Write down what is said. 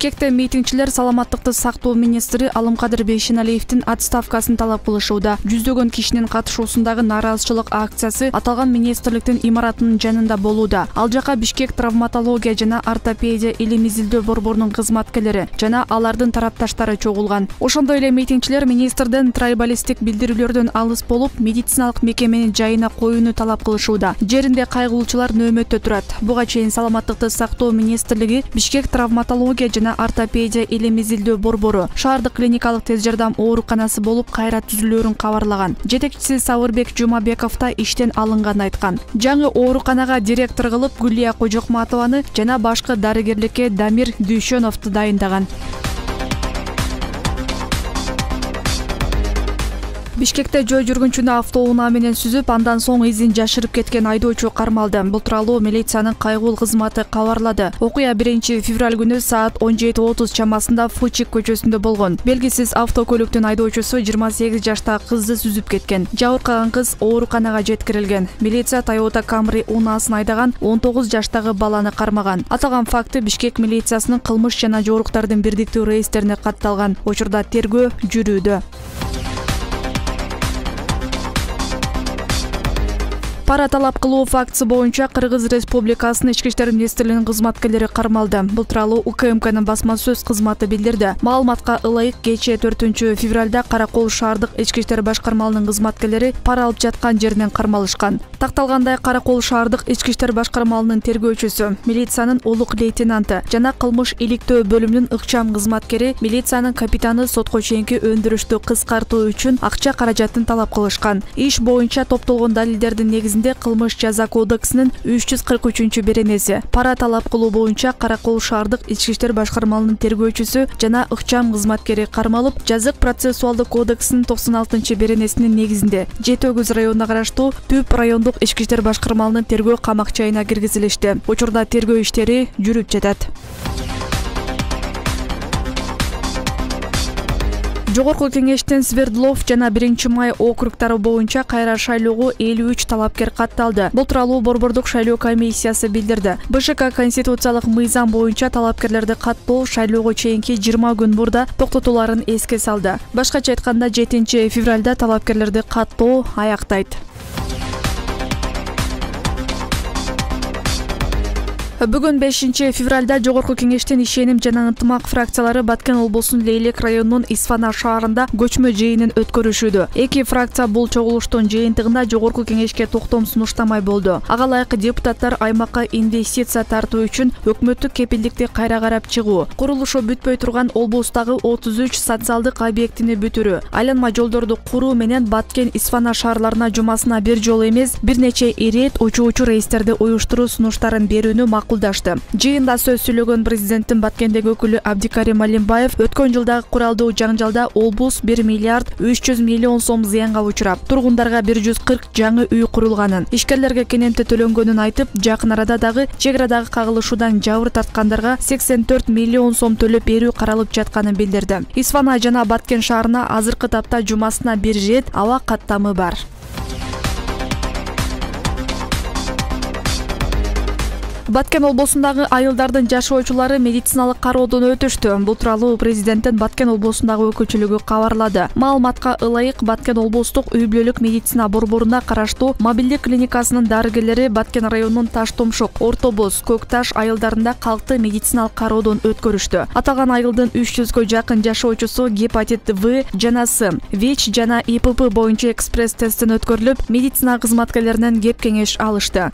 Бишкекте митингчилер саламаттыкты сактоо министри Алымкадыр Бейшеналиевдин отставкасын талап кылышууда. Жүздөгөн кишинин катышуусундагы нааразычылык акциясы аталган министрликтин имаратынын жанында болууда. Ал жака Бишкек травматология жана ортопедия илим изилдөө борборунун кызматкерлери жана алардын тарапташтары чогулган. Ошондой эле митингчилер министрден трайбалисттик билдирүүлөрдөн алыс болуп, медициналык мекемени жайына коюуну талап кылышууда. Жеринде кайгылуучулар нөөмөттө турат. Буга чейин саламаттыкты сактоо министрлиги Бишкек травматология жана ортопедия илим изилдөө борбору шаардык клиникалык тез жардам ооруканасы болуп кайра түзүлөөрүн кабарлаган. Жетекчиси Сабырбек Жумабеков да иштен алынганын айткан. Жаңы ооруканага директор кылып Гүлия Кожокматованы жана башкы дарыгерликке Дамир Дүйшөновду дайындаган. Бишкекте жөө жүргүнчүнү автоунаа менен сүзүп, андан соң изин жашырып кеткен айдоочу кармалды. Бул тууралуу милициянын кайгыл кызматы кабарлады. Окуя 1-февраль күнү саат 17:30 чамасында Фучик көчөсүндө болгон. Белгисиз автокөлүктүн айдоочусу 28 жаштагы кызды сүзүп кеткен. Жабыркаган кыз ооруканага жеткирилген. Милиция Toyota Camry унаасын айдаган 19 жаштагы баланы кармаган. Аталган факты Бишкек милициясынын кылмыш жана жоруктардын бирдиктүү рейстерине катталган. Учурда тергөө жүрүүдө. Пара талап кылуу фактысы боюнча Кыргыз Республикасынын Ички иштер министрлигинин кызматкерлери кармалды. Бул тууралуу УКМКнын басма сөз кызматы билдирди. Маалыматка ылайык кечээ 4-февралда Каракол шаардык Ички иштер башкармаларынын кызматкерлери пара алып жаткан жеринен кармалышкан. Такталгандай, Каракол шаардык Ички иштер башкармаларынын тергөөчүсү, милициянын улук лейтенанты жана кылмыш иликтөө бөлүмүнүн ыкчам кызматкери милициянын капитаны сотко чейинки өндүрүштү кыскартуу үчүн акча каражатын талап кылышкан. Иш боюнча топтолгон далилдердин негизинде Кылмыш жаза кодексинин 343-беренеси пара талап кылуу боюнча Каракол шаардык Ички иштер башкармаларынын тергөөчүсү жана ыкчам кызматкери кармалып, жазык процессуалдык кодексинин 96-беренесинин негизинде Жети Өгүз районуна караштуу Түп райондук Ички иштер башкармаларынын тергөө камакчайына киргизилишти. Учурда тергөө иштери жүрүп жатат. Жогорку кеңештен Свердлов жана 1-Май округтары боюнча кайра шайлоого 53 талапкер катталды. Бул тууралуу борбордук шайлоо комиссиясы билдирди. БШК конституциялык мыйзам боюнча талапкерлерди каттоо шайлоого чейинки 20 күн мурда токтотуларын эске салды. Башкача айтканда 7-февралда талапкерлерди каттоо аяктайт. Бүгүн 5-февралда Жогорку кеңештин ишеним жана ынтымак фракциялары Баткен облусунун Лейлек районунун Исфана шаарында көчмө жыйынын өткөрүшүүдө. Эки фракция бул чогулуштун жыйынтыгында Жогорку кеңешке токтом сунуштамай болду. Ага ылайык депутаттар аймакка инвестиция тартуу үчүн өкмөттүк кепилдикти кайра карап чыгуу, курулушу бүтпөй турган облустагы 33 социалдык объектини бүтүрүү, айланма жолдорду куруу менен Баткен Исфана шаарларына жумасына бир жолу эмес, бир нече ирет учуучу рейстерди уюштуруу сунуштарын берүүнү макулдашты. Жыйында сөз сүйлөгөн президенттин Баткендеги өкүлү Абдикарим Алимбаев өткөн жылдагы куралдуу жаңжалда облус 1 миллиард 300 миллион сом зыянга учурап, тургундарга 140 жаңы үй курулганын, ишкерлерге кенемти төлөнгөнүн айтып, жакын арада дагы чек арадагы кагылышуудан жабыр тарткандарга 84 миллион сом төлөп берүү каралып жатканын билдирди. Исфана жана Баткен шаарына азыркы тапта жумасына бир рет аба каттамы бар. Баткен облусундагы айылдардын жашоочулары медициналык кароодон өтүштү. Бул тууралуу президенттин Баткен облусундагы өкүлчүлүгү кабарлады. Маалыматка ылайык Баткен облустук үй бүлөлүк медицина борборуна караштуу мобилдик клиникасынын дарыгерлери Баткен районунун Таштомшук, Орто Боз, Көк Таш айылдарында калкты медициналык кароодон өткөрүштү. Аталган айылдын 300гө жакын жашоочусу гепатит В жана С, ВИЧ жана ИПП боюнча экспресс тесттен өткөрүлүп, медицина кызматкерлеринен кеп кеңеш алышты.